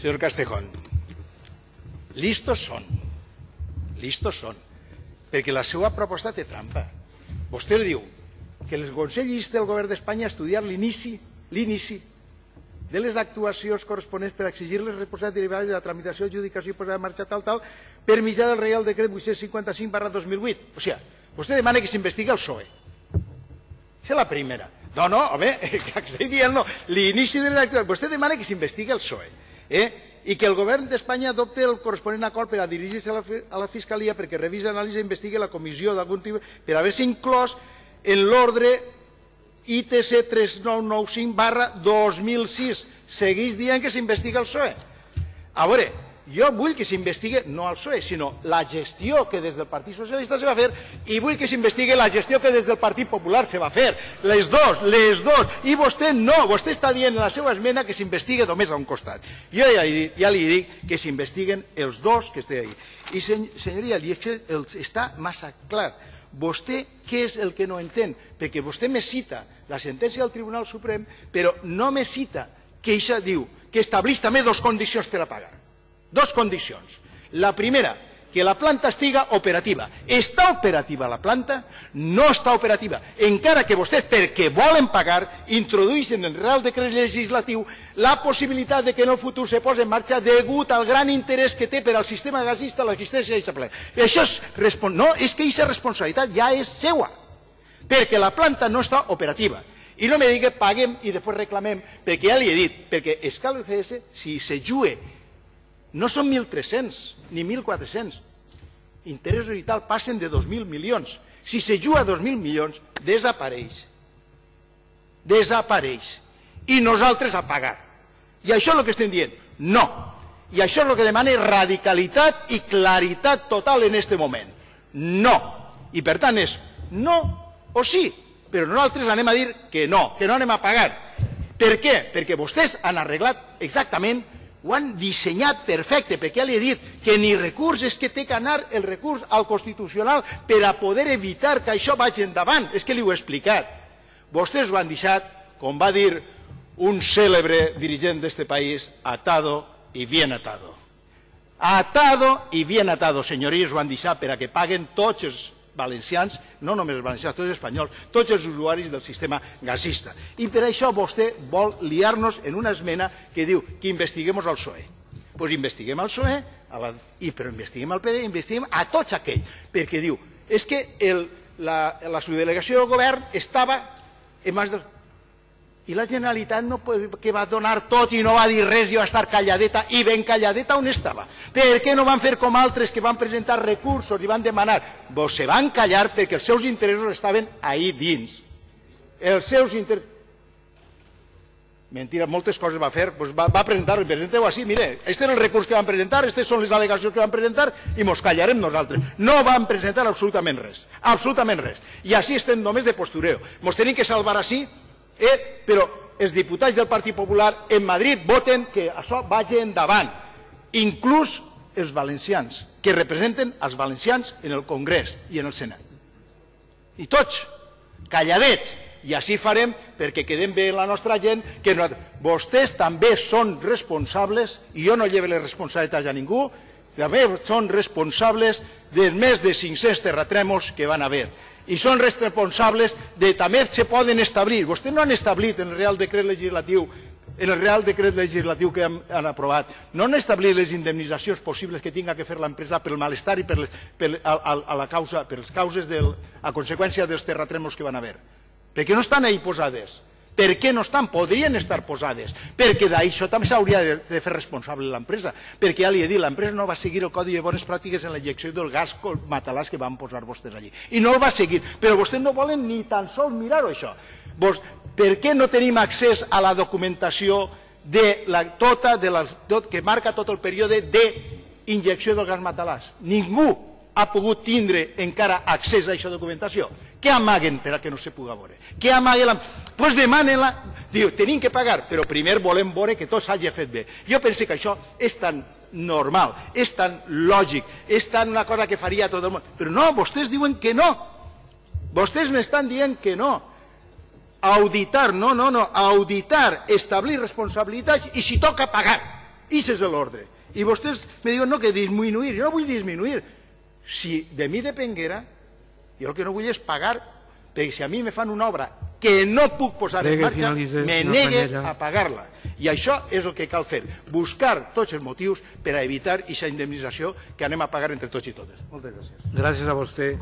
Senyor Castejón, listos són, perquè la seva proposta té trampa. Vostè diu que el Consell insta el govern d'Espanya a estudiar l'inici de les actuacions corresponents per exigir les responsabilitats derivades de la tramitació, adjudicació i posada en marxa tal, per mitjà del Reial Decret 855/2008. O sigui, vostè demana que s'investigui el PSOE. Aquesta és la primera. No, home, que estic dient, no. L'inici de les actuacions. Vostè demana que s'investigui el PSOE. I que el govern d'Espanya adopte el corresponent acord per a dirigir-se a la Fiscalia perquè revisi, analitzi i investigui la comissió d'algun tipus per haver-se inclòs en l'ordre ITC 3995/2006. Segueix dient que s'investiga el PSOE. A veure, jo vull que s'investigui no el PSOE, sinó la gestió que des del Partit Socialista se va fer i vull que s'investigui la gestió que des del Partit Popular se va fer. Les dos. I vostè no, vostè està dient en la seva esmena que s'investigui només a un costat. Jo ja li dic que s'investiguen els dos que estan ahí. I senyoria, està massa clar. Vostè què és el que no entén? Perquè vostè me cita la sentència del Tribunal Suprem, però no me cita que això diu que estableix també dues condicions per a pagar. Dues condicions. La primera, que la planta estiga operativa. Està operativa la planta? No està operativa. Encara que vostès, perquè volen pagar, introdueixen en el Real Decret Legislatiu la possibilitat de que en el futur se posi en marxa degut al gran interès que té per al sistema gasista l'existència d'aquesta planta. Això no, és que aquesta responsabilitat ja és seua, perquè la planta no està operativa. I no me digui paguem i després reclamem, perquè ja li he dit, perquè Escal FS, si se juga, no són 1.300 ni 1.400. Interessos i tal passen de 2.000 milions. Si se juga a 2.000 milions, desapareix. I nosaltres a pagar. I això és el que estem dient. No. I això és el que demana radicalitat i claritat total en aquest moment. No. I per tant és no o sí. Però nosaltres anem a dir que no anem a pagar. Per què? Perquè vostès han arreglat exactament, ho han dissenyat perfecte, perquè ja li he dit que ni recurs és que té que anar el recurs al Constitucional per a poder evitar que això vagi endavant. És que li ho he explicat. Vostès ho han deixat, com va dir un cèlebre dirigent d'aquest país, atado y bien atado. Atado y bien atado, senyories, ho han deixat per a que paguen tots els valencians, no només els valencians, tots els espanyols, tots els usuaris del sistema gasista. I per això vostè vol liar-nos en una esmena que diu que investiguem el PSOE. Doncs investiguem el PSOE, però investiguem el PP, investiguem a tots aquells, perquè diu, és que la subdelegació del govern estava en mans del... I la Generalitat que va donar tot i no va dir res i va estar calladeta, i ben calladeta on estava. Per què no van fer com altres que van presentar recursos i van demanar? Se van callar perquè els seus interessos estaven ahí dins. Els seus interessos... Mentira, moltes coses va fer, va presentar-ho, presenteu així, mire, este és el recurs que van presentar, aquestes són les al·legacions que van presentar i mos callarem nosaltres. No van presentar absolutament res, i així estem només de postureo. Mos tenim que salvar així, però els diputats del Partit Popular en Madrid voten que això vagi endavant, inclús els valencians, que representen els valencians en el Congrés i en el Senat. I tots, calladets, i així farem perquè quedem bé la nostra gent, que vostès també són responsables, i jo no llevo les responsabilitats a ningú, també són responsables dels més de 500 terratrèmols que van haver. I són responsables de també se poden establir. Vostès no han establit en el Real Decret Legislatiu que han aprovat, no han establit les indemnitzacions possibles que tinga que fer l'empresa pel malestar i per les causes a conseqüència dels terratrèmols que van haver. Perquè no estan ahí posades. Per què no estan? Podrien estar posades. Perquè d'això també s'hauria de fer responsable l'empresa. Perquè ja li he dit, l'empresa no va seguir el Codi de Bones Pràctiques en la injecció del gas matalàs que van posar vostès allí. I no el va seguir. Però vostès no volen ni tan sols mirar-ho, això. Per què no tenim accés a la documentació que marca tot el període d'injecció del gas matalàs? Ningú ha pogut tindre encara accés a aquesta documentació. Què amaguen per a que no se pugui veure? Què amaguen? Doncs demanen-la. Diu, tenim que pagar, però primer volem veure que tot s'hagi fet bé. Jo penso que això és tan normal, és tan lògic, és tan una cosa que faria tot el món. Però no, vostès diuen que no. Vostès m'estan dient que no. Auditar, no, auditar, establir responsabilitats i si toca pagar. Ix és l'ordre. I vostès me diuen no, que disminuir. Jo no vull disminuir. Si de mi depenguera, jo el que no vull és pagar, perquè si a mi me fan una obra que no puc posar en marxa, me negue a pagar-la. I això és el que cal fer, buscar tots els motius per a evitar aquesta indemnització que anem a pagar entre tots i totes. Moltes gràcies. Gràcies a vostè.